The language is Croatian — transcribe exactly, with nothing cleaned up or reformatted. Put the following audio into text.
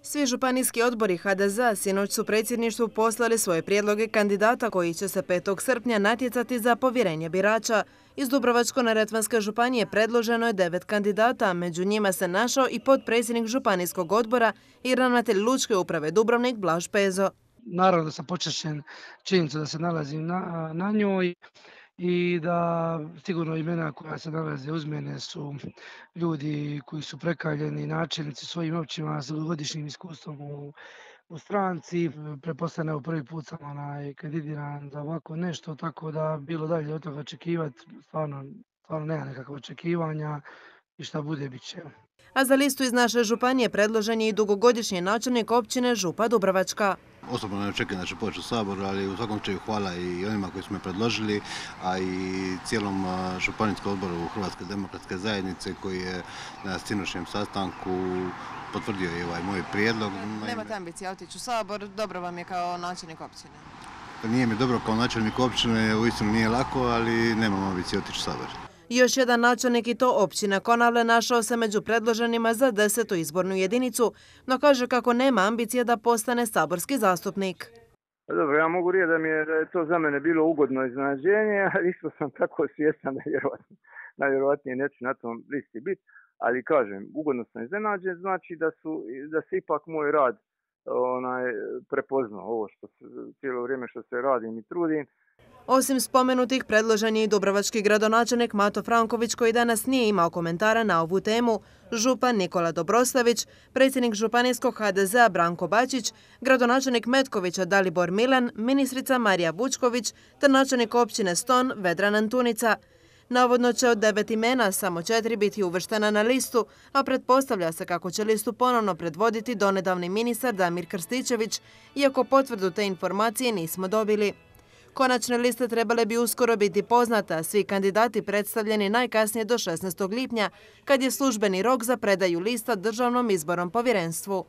Svi županijski odbori H D Z-a sinoć su predsjedništvu poslali svoje prijedloge kandidata koji će se petog srpnja natjecati za povjerenje birača. Iz Dubrovačko-neretvanske županije predloženo je devet kandidata, među njima se našao i potpredsjednik županijskog odbora i ravnatelj Lučke uprave Dubrovnik Blaž Pezo. Naravno da sam počašćen činjenicu da se nalazim na, na njoj i da sigurno imena koja se nalaze uz mene su ljudi koji su prekaljeni, načelnici svojim općinama sa dugogodišnjim iskustvom u, u stranci. Pretpostavljam, evo prvi put sam onaj kandidiran za ovako nešto, tako da bilo dalje od toga očekivati, stvarno, stvarno nema nekakva očekivanja i šta bude bit će. A za listu iz naše županije predložen je i dugogodišnji načelnik općine Župa Dubrovačka. Osobno ne očekujem da će poći u Sabor, ali u svakom slučaju hvala i onima koji su me predložili, a i cijelom županijskom odboru Hrvatske demokratske zajednice koji je na sinoćnjem sastanku potvrdio i ovaj moj prijedlog. Nemate ambicije otići u Sabor, dobro vam je kao načelnik općine? Nije mi dobro kao načelnik općine, uistinu nije lako, ali nemam ambicije otići u Sabor. Još jedan načelnik i to općina Konavle našao se među predloženima za desetu izbornu jedinicu, no kaže kako nema ambicije da postane saborski zastupnik. Dobro, ja mogu reći da mi je, da je to za mene bilo ugodno iznenađenje, ali isto sam tako svjestan da vjerojatno, najvjerojatnije neću na tom listi biti, ali kažem, ugodno sam iznenađen, znači da, su, da se ipak moj rad onaj, prepoznao, ovo što se, cijelo vrijeme što se radim i trudim. Osim spomenutih, predložen je i dubrovački gradonačelnik Mato Franković koji danas nije imao komentara na ovu temu, župan Nikola Dobroslavić, predsjednik županijskog H D Z-a Branko Bačić, gradonačelnik Metkovića Dalibor Milan, ministrica Marija Vučković te načelnik općine Ston Vedran Antunica. Navodno će od devet imena samo četiri biti uvrštena na listu, a pretpostavlja se kako će listu ponovno predvoditi donedavni ministar Damir Krstičević, iako potvrdu te informacije nismo dobili. Konačne liste trebale bi uskoro biti poznate, a svi kandidati predstavljeni najkasnije do šesnaestog lipnja, kad je službeni rok za predaju lista Državnom izbornom povjerenstvu.